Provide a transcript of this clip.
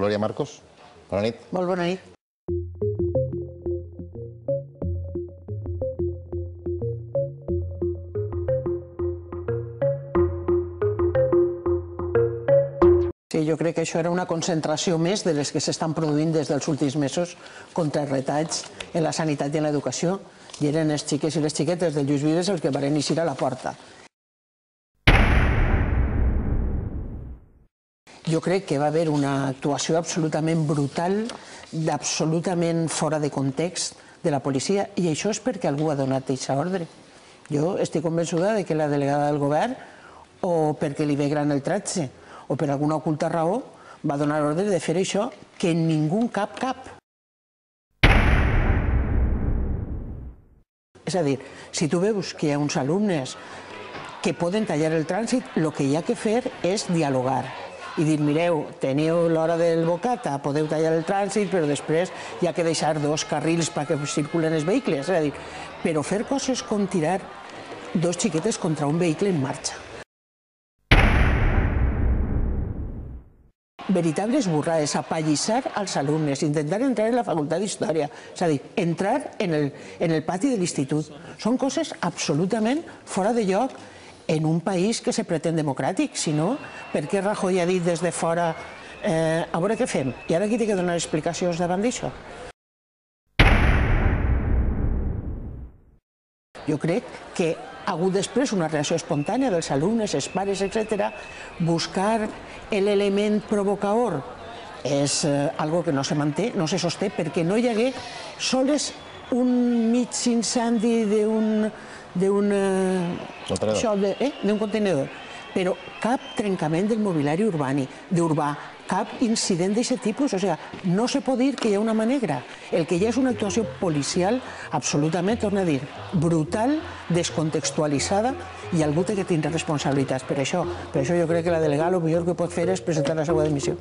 Glòria Marcos, bona nit. Molt bona nit. Sí, jo crec que això era una concentració més de les que s'estan produint des dels últims mesos contra els retalls en la sanitat i en l'educació, i eren els xiquets i les xiquetes de Lluís Vives els que van eixir a la porta. Jo crec que va haver una actuació absolutament brutal, absolutament fora de context de la policia, i això és perquè algú ha donat aquesta ordre. Jo estic convençuda que la delegada del govern, o perquè li ve gran el tratge, o per alguna oculta raó, va donar ordre de fer això que ningú cap. És a dir, si tu veus que hi ha uns alumnes que poden tallar el trànsit, el que hi ha que fer és dialogar i dir, mireu, teniu l'hora del bocata, podeu tallar el trànsit, però després hi ha que deixar 2 carrils perquè circulen els vehicles. És a dir, però fer coses com tirar 2 xiquetes contra un vehicle en marxa. Veritables burrades, apallissar als alumnes, intentar entrar en la facultat d'Història, és a dir, entrar en el pati de l'institut. Són coses absolutament fora de lloc en un país que se pretén democràtic. Si no, per què Rajoy ha dit des de fora a veure què fem? I ara qui té que donar explicacions davant d'això? Jo crec que ha hagut després una reacció espontània dels alumnes, els pares, etc. Buscar l'element provocador és algo que no se manté, no se sosté, perquè no hi hagué sols un mig incendi d'un contenidor, però cap trencament del mobiliari urbà, cap incident d'aquest tipus. O sigui, no se pot dir que hi ha una mà negra. El que hi ha és una actuació policial absolutament, torno a dir, brutal, descontextualitzada, i algú té que tindre responsabilitats per això. Per això jo crec que la delegada el millor que pot fer és presentar la seva dimissió.